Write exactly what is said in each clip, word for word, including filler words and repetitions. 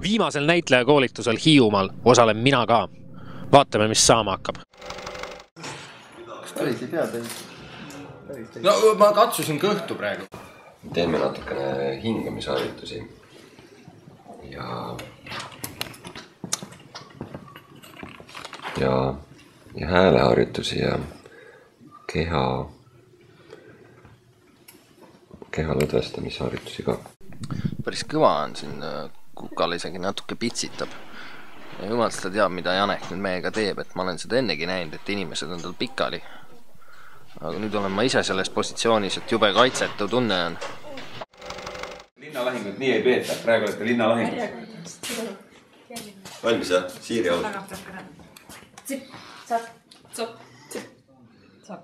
Viimasel näitlejakoolitusel Hiiumaal osalen mina ka. Vaatame, mis saama hakkab. No ma katsusin kõhtu praegu. Teeme natukene hingamisharjutusi. Ja... Ja, ja hääleharjutusi ja keha... keha lõdvestamisharjutusi ka. Päris kõva on siin, kukal isegi natuke pitsitab. Ja jumal seda teab, mida Janek nüüd meiega teeb, et ma olen seda ennegi näinud, et inimesed on tal pikali. Aga nüüd olen ma ise selles positsioonis, et jube kaitsetu tunne on. Linnalahingut nii ei peeta, praegu olete linnalahingut. Valmis jah? Siiri au. Tsip, tsap, tsop, tsip, tsap,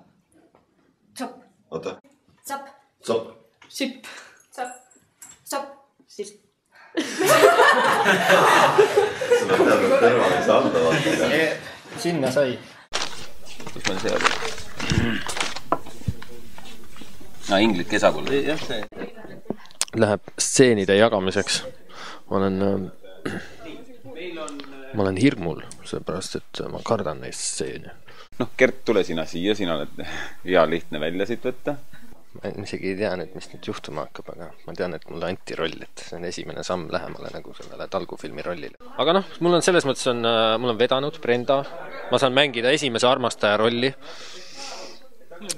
tsop. Oota. Tsap. Tsop. Sip. Tsap. Tsop. Sip. Seda teadnud tervale ei saa anda vaata. Sinna sai. Kus meil see oli? No, inglit kesakulla. Jah, see. Läheb stseenide jagamiseks. Ma olen, ma olen hirmul, seepärast, et ma kardan neist stseeni. Noh, Gert, tule sina siia, sina oled hea lihtne välja siit võtta. Ma isegi ei tea nüüd, mis nüüd juhtuma hakkab, aga ma tean, et mulle anti roll, et see on esimene samm lähemale nagu sellele talgufilmi rollile. Aga noh, mul on selles mõttes, on, mul on vedanud Brenda, ma saan mängida esimese armastaja rolli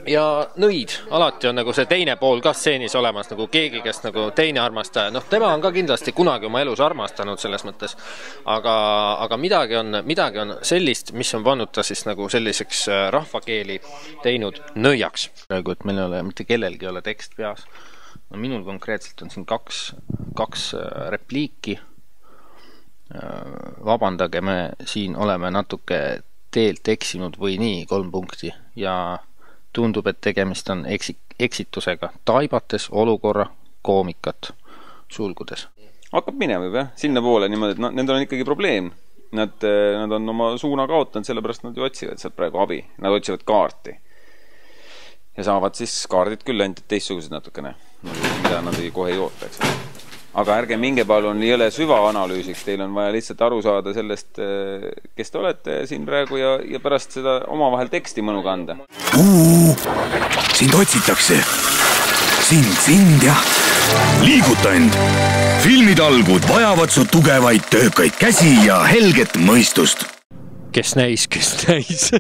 ja nõid, alati on nagu see teine pool ka stseenis olemas, nagu keegi, kes nagu teine armastaja, noh, tema on ka kindlasti kunagi oma elus armastanud selles mõttes, aga, aga midagi on, midagi on sellist, mis on pannud ta siis nagu selliseks rahvakeeli teinud nõiaks. Praegu, et meil ei ole, mitte kellelgi ei ole tekst peas. No, minul konkreetselt on siin kaks, kaks repliiki. Vabandage, me siin oleme natuke teelt eksinud või nii, kolm punkti ja tundub, et tegemist on eksitusega, taibates olukorra koomikat sulgudes. Hakkab minema juba, sinna poole niimoodi, et no, nendel on ikkagi probleem. Nad, nad on oma suuna kaotanud, sellepärast nad ju otsivad sealt praegu abi. Nad otsivad kaarti. Ja saavad siis kaardid küll ainult teistsugused natukene, mida nad ei kohe ei oota, eks. Aga ärge minge palun jõle süvaanalüüsiks, teil on vaja lihtsalt aru saada sellest, kes te olete siin praegu ja, ja pärast seda omavahel teksti mõnu kanda. Uu, sind otsitakse. Sind, sind ja liiguta end. Filmitalgud vajavad su tugevaid töökaid käsi ja helget mõistust. Kes näis, kes näis.